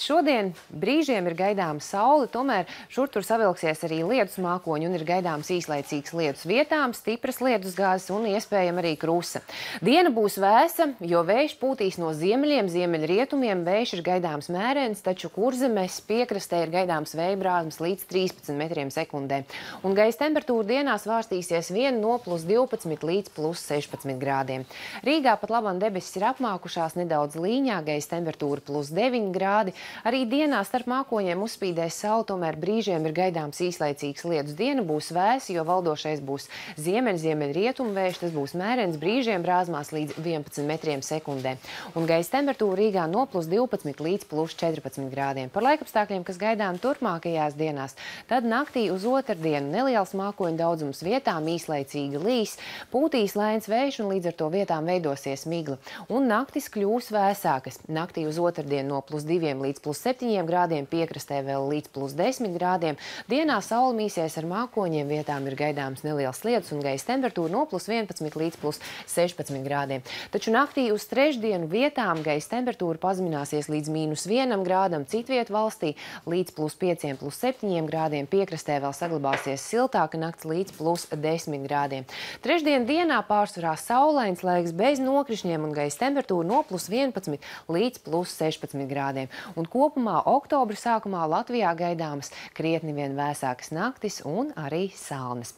Šodien brīžiem ir gaidāma saule, tomēr šur tur savilksies arī lietus mākoņi un ir gaidāms īslaicīgs lietus vietām, stipras lietusgāzes un iespējama arī krusa. Diena būs vēsa, jo vējš pūtīs no ziemeļiem, ziemeļrietumiem, vējš ir gaidāms mērens, taču Kurzemes piekrastē ir gaidāms vēja brāzmas līdz 13 metriem sekundē. Un gaisa temperatūra dienā svārstīsies vien no +12 līdz +16 grādiem. Rīgā pat labam debesis ir apmākušās nedaudz līņā, gaisa temperatūra +9 grādi. Arī dienā starp mākoņiem uzspīdēs saule, tomēr brīžiem ir gaidāms īslaicīgs lietus. Diena būs vēsa, jo valdošais būs ziemeļrietumu vējš, tas būs mērens, brīžiem brāzmās līdz 11 metriem sekundē. Un gaisa temperatūra Rīgā no +12 līdz +14 grādiem. Par laikapstākļiem, kas gaidām turpmākajās dienās, tad naktī uz otrdienu neliels mākoņu daudzums vietām īslaicīgi līs, pūtīs lēns vējš un līdz ar to vietām veidosies migla. Un naktis kļūs vēsākas. Naktī uz otrdienu no +2 līdz +7 grādiem, piekrastē vēl līdz +10 grādiem. Dienā saule mīsies ar mākoņiem, vietām ir gaidāms neliels lietus un gaisa temperatūra no +11 līdz +16 grādiem. Taču naktī uz trešdienu vietām gaisa temperatūra pazemināsies līdz -1 grādam, citviet valstī līdz +5, +7 grādiem, piekrastē vēl saglabāsies siltāka nakts līdz +10 grādiem. Trešdien dienā pārsvarā saulains laiks bez nokrišņiem un gaisa temperatūra no +11 līdz +16 grādiem. Un kopumā oktobra sākumā Latvijā gaidāmas krietni vien vēsākas naktis un arī salnas.